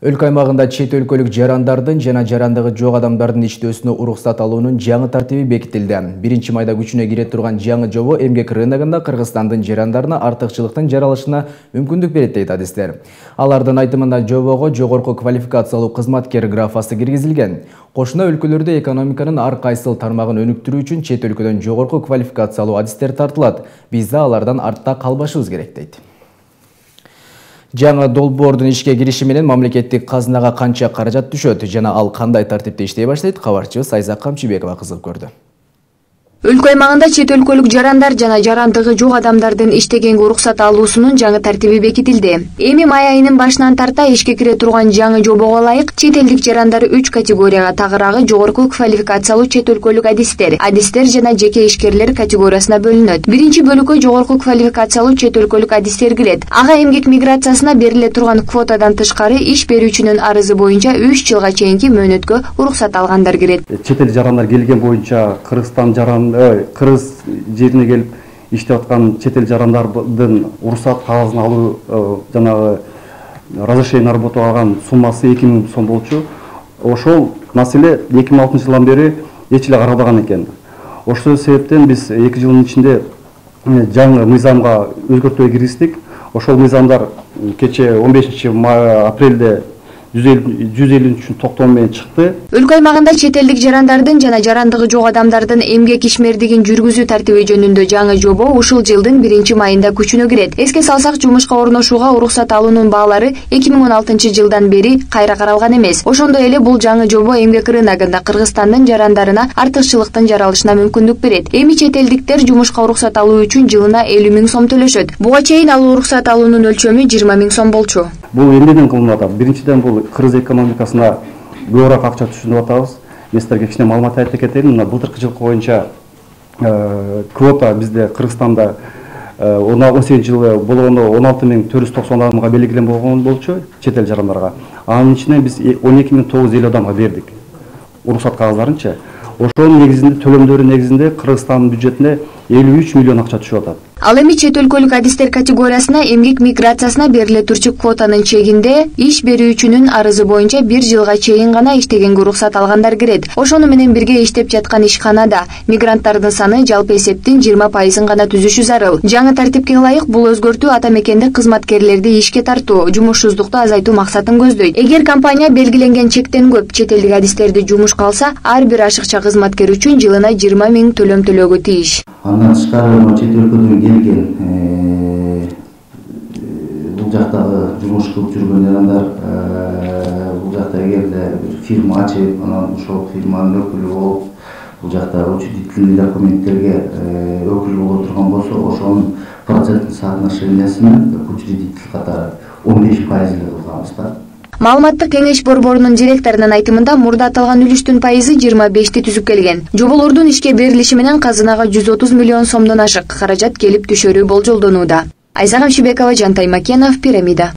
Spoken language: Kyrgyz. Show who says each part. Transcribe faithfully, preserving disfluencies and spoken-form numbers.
Speaker 1: Өлкө аймагында чет өлкөлүк жарандардын жана жарандыгы жок адамдардын иштөөсүнө уруксат алуунун жаңы тартиби бекитилди. биринчи майда күчүнө кире турган жаңы жобо эмгек рыногунда Кыргызстандын жарандарына артыкчылыктын жаралышына мүмкүндүк берет дейт адистер. Алардын айтымында жобого жогорку квалификациялуу кызматкер графасы киргизилген. Кошуна өлкөлөрдө экономиканын ар кайсыл тармагын өнүктүрүү үчүн чет өлкөдөн жогорку квалификациялуу адистер тартылат. Биз да алардан артта калбашыбыз керек дейт. Жаңы долбоордун ишке кириши менен мамлекеттик казынага канча каражат түшөт жана ал кандай тартипте иштей баштайт, кабарчыбыз Айзак Камчыбекова кызыгып көрдү.
Speaker 2: Өлкө аймагында чет өлкөлүк жарандар жана жарандыгы жок адамдардын иштегенге уруксат алуусунун жаңы тартиби бекитилди. Эми май айынын башынан тарта ишке кире турган жаңы жобого ылайык чет элдик жарандар үч категорияга, тагыраагы жогорку квалификациялуу чет өлкөлүк адистер, адистер жана жеке ишкерлер категориясына бөлүнөт. Биринчи бөлүккө жогорку квалификациялуу чет өлкөлүк адистер кирет. Ага эмгек миграциясына бериле турган квотадан тышкары иш берүүчүнүн арызы боюнча үч жылга чейинки мөөнөткө уруксат алгандар кирет.
Speaker 3: Чет эл жарандар келген боюнча Кыргызстан жаран Кыргыз жерине келип иштеп аткан чет эл жарандардын уруксат кагазын алуу жанагы разрешение на работу алган суммасы эки миң сом болчу. Ошол маселе эки миң алтынчы жылдан бери эч эле каралбаган экен. Ошол себептен биз эки жылдын ичинде жаңы мыйзамга өзгөртүү киргиздик. Ошол мыйзамдар кече он бешинчи апрелде жүз элүү үчүн токтом менен чыкты.
Speaker 2: Өлкө аймагында чет элдик жарандардын жана жарандыгы жок адамдардын эмгек ишмердигин жүргүзүү тартиби жөнүндө жаңы жобо ушул жылдын биринчи майында күчүнө кирет. Эске салсак, жумушка орношууга уруксат алуунун баалары эки миң он алтынчы жылдан бери кайра каралган эмес. Ошондой эле бул жаңы жобо эмгек рыногунда Кыргызстандын жарандарына артыкчылыктын жаралышына мүмкүндүк берет. Эми чет элдиктер жумушка уруксат алуу үчүн жылына элүү миң сом төлөшөт. Буга чейин ал уруксат алуунун өлчөмү жыйырма миң сом болчу.
Speaker 3: Бул эмнеден кылынып атат? Биринчиден бул Кыргыз экономикасына көбүрөөк акча түшүнүп атабыз. Мен силерге кичине маалымат айтып кетейин. Мына былтыркы жылкы боюнча квота бизде Кыргызстанда он сегизинчи жылы болгондо он алты миң төрт жүз токсон адамга белгилен болгон болчу чет эл жарандарга. Анын ичинен биз он эки миң тогуз жүз элүү адамга бердик уруксат кагаздарынчы. Ошонун негизинде төлөмдөрүнүн негизинде Кыргызстандын бюджетине элүү үч миллион акча түшүп атат.
Speaker 2: Ал эми чет өлкөлүк адистер категориясына эмгек миграциясына бериле турчу квотанын чегинде иш берүүчүнүн арызы боюнча бир жылга чейин гана иштегенге уруксат алгандар кирет. Ошону менен бирге иштеп жаткан ишканада мигранттардын саны жалпы эсептин жыйырма пайызын гана түзүшү зарыл. Жаңы тартипке ылайык бул өзгөртүү ата мекендик кызматкерлерди ишке тартуу, жумушсуздукту азайтуу максатын көздөйт. Эгер компания белгиленген чектен көп чет элдик адистерди жумушка алса, ар бир ашыкча кызматкер үчүн жылына жыйырма миң төлөм төлөөгө тийиш.
Speaker 4: Андан тышкары чет өлкөдөн келген бул жактагы жумуш кылып жүргөн жарандар бул жакта эгерде фирма ачып, анан ошол фирманын өкүлү болуп, бул жакта учредительный документтерге өкүл боло турган болсо, ошонун проценттик соотношениясынын учредитель катары он беш пайыз эле кылганбыз да.
Speaker 2: Маалыматтык кеңеш борборунун директорунун айтымында мурда аталган үлүштүн пайызы жыйырма бешти түзүп келген. Жоболордун ишке берилиши менен казынага жүз отуз миллион сомдон ашык каражат келип түшөрү болжолдонууда. Айзак Камчыбекова, Жантай Макенов, Пирамида.